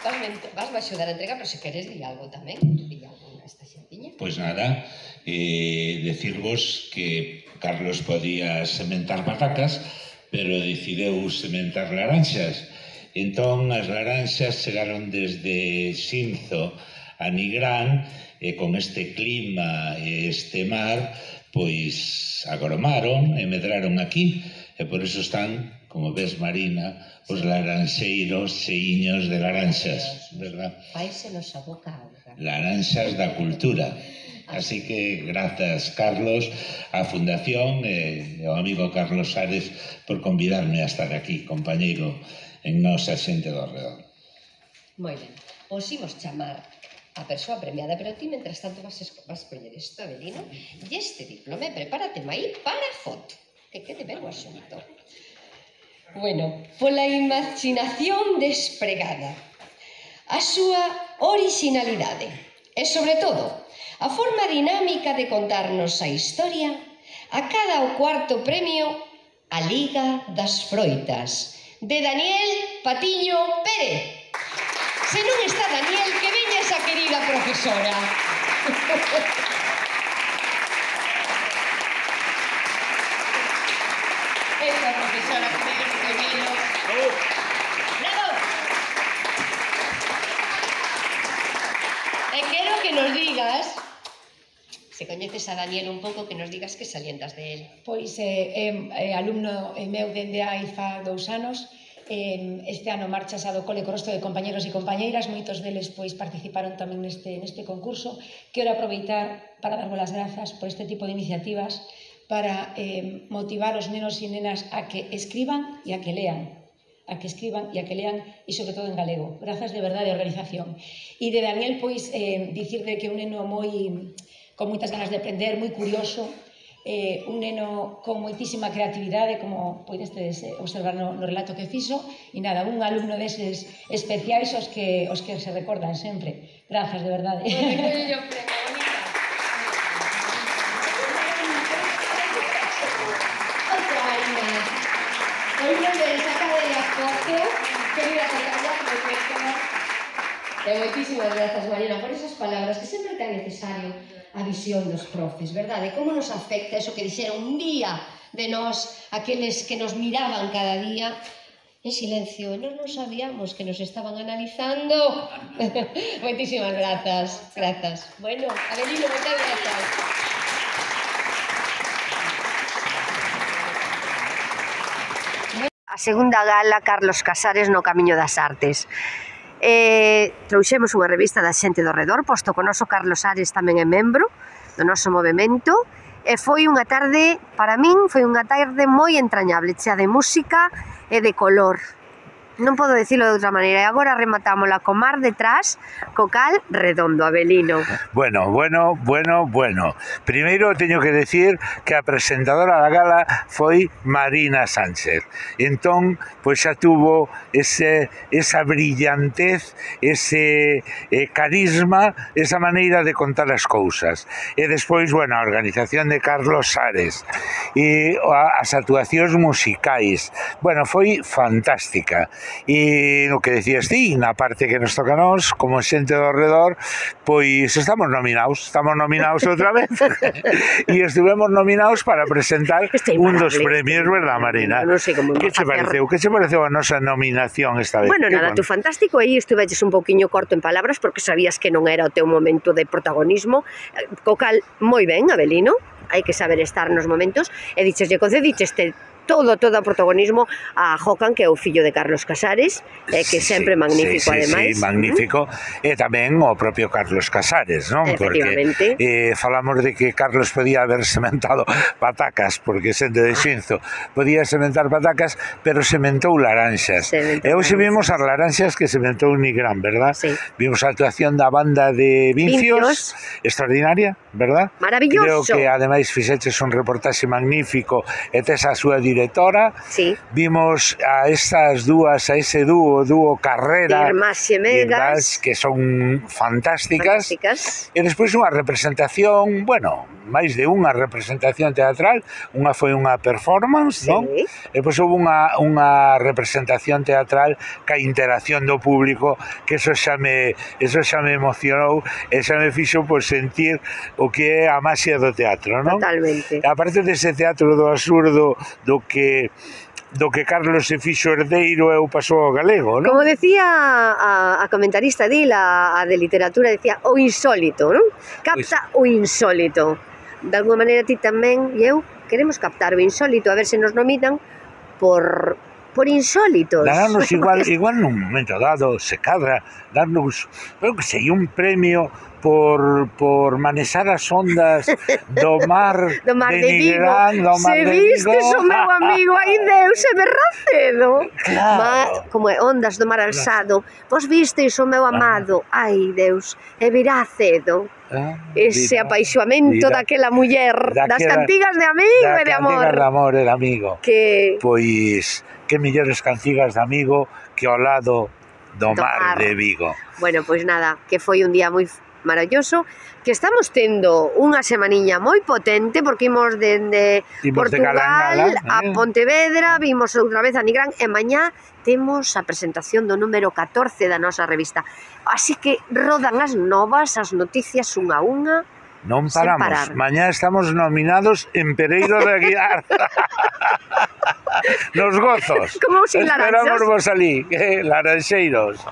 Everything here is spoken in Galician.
Vasme axudar a entregar, pero se queres di algo tamén. Di algo esta xentiña. Pois nada, decirvos que Carlos podía sementar patacas, pero decideu sementar laranxas. Entón, as laranxas chegaron desde Xinzo a Nigrán, e con este clima e este mar, pois agromaron e medraron aquí, e por iso están, como ves, Marina, os laranxeiros cheiños de laranxas, verdad? Fáisenos a boca auga. Laranxas da cultura. Así que grazas, Carlos, á Fundación e ao amigo Carlos Ares por convidarme a estar aquí, compañeiro, en nosa xente do redor. Moi ben. Os imos chamar a persoa premiada, pero ti, mentras tanto, vas coller isto, Avelino, e este diploma, prepárate aí para a foto, que quede ben o asunto. Bueno, pola imaginación despregada, a súa originalidade e, sobre todo, a forma dinámica de contarnos a historia, a cada o cuarto premio a Liga das Froitas, de Daniel Patiño Pérez. Se non está Daniel, que veña esa querida profesora. Esa profesora que veña que vino. ¡Bravo! E quero que nos digas, se coñeces a Daniel un pouco, que nos digas que salientas de él. Pois é alumno meu dende hai fa 2 anos. Este ano marchas do cole co resto de compañeros e compañeiras, moitos deles pois participaron tamén neste concurso. Quero aproveitar para darvos as grazas por este tipo de iniciativas para motivar os nenos e nenas a que escriban e a que lean. A que escriban e a que lean, e sobre todo en galego. Grazas de verdade a organización. E de Daniel, pois, dicirle que é un neno con moitas ganas de aprender, moi curioso, un neno con moitísima creatividade, como podestes observar no relato que fixo, e nada, un alumno deses especiais os que se recordan sempre. Grazas, de verdade. E moitísimas grazas, Marina, por esas palabras, que sempre é tan necesario a visión dos profes, verdade? Como nos afecta eso que dixeron un día de nós, aqueles que nos miraban cada día en silencio, e nós non sabíamos que nos estaban analizando. Moitísimas grazas, grazas. Bueno, Avelino, moitas grazas. A segunda gala, Carlos Casares no Camiño das Artes. Trouxemos unha revista da xente do redor, posto que o noso Carlos Ares tamén é membro do noso movimento, e foi unha tarde, para min, foi unha tarde moi entrañable, chea de música e de color. Non podo dicilo de outra maneira, e agora rematámola co mar detrás, co cal redondo, Avelino. Bueno. Primeiro teño que decir que a presentadora da gala foi Marina Sánchez. Entón, pois xa tuvo esa brillantez, ese carisma, esa maneira de contar as cousas. E despois, bueno, a organización de Carlos Ares e as actuacións musicais. Bueno, foi fantástica. E no que decías ti, na parte que nos toca a nós, como xente do redor, pois estamos nominados outra vez. E estivemos nominados para presentar un dos premios, verdad, Marina? Non sei como que che pareceu? Que che pareceu a nosa nominación esta vez? Bueno, nada, tú fantástico, aí estuveches un pouquiño corto en palabras, porque sabías que non era o teu momento de protagonismo, co cal, moi ben, Avelino, hai que saber estar nos momentos, e concedicheste todo o protagonismo a Jocan, que é o fillo de Carlos Casares, que sempre magnífico, ademais. Sí, magnífico, e tamén o propio Carlos Casares, non? Efectivamente. Porque falamos de que Carlos podía haber sementado patacas, porque xente de Xinzo podía sementar patacas, pero sementou laranxas. E hoxe vimos as laranxas que sementou Nigrán, verdad? Sí. Vimos a actuación da banda de Vincios, extraordinaria, verdad? Maravilloso. Creo que ademais fixeches un reportaxe magnífico e tes a súa dirección directora. Sí. Vimos a estas dúas, a ese dúo Carrera, Irmás xemelgas, que son fantásticas. E despois unha representación, bueno, máis de unha representación teatral, unha foi unha performance, Sí. non? E depois houve unha representación teatral ca interacción do público, que eso xa me emocionou e xa me fixo por sentir o que é a maxia do teatro, non? Totalmente. Aparte dese teatro do absurdo do que Carlos se fixo herdeiro e o pasou ao galego, non? Como decía a comentarista a de literatura, decía o insólito, non? Capta o insólito. De alguma maneira ti tamén e eu queremos captar o insólito, a ver se nos nominan por insólitos. Darnos igual nun momento dado, se cadra, darnos, creo que sei, un premio por manesar as ondas do mar de Nigrán, do mar de Vigo. Se vistes o meu amigo, ai Deus, se me racedo. Claro. Como é, ondas do mar alzado, vos visteis o meu amado, ai Deus, e virá cedo. Ese apaixoamento daquela muller, das cantigas de amigo e de amor. Das cantigas de amor e de amigo. Que... Pois, que mellores cantigas de amigo que ao lado do mar de Vigo. Bueno, pois nada, que foi un día moi maravilloso, que estamos tendo unha semaniña moi potente, porque imos dende Portugal a Pontevedra, vimos outra vez a Nigrán, e mañá temos a presentación do número 14 da nosa revista. Así que rodan as novas, as noticias unha a unha. Non paramos. Mañá estamos nominados en Pereiro de Aguiar. Nos gozos. Como sin laranxas. Esperamos vos alí, laranxeiros.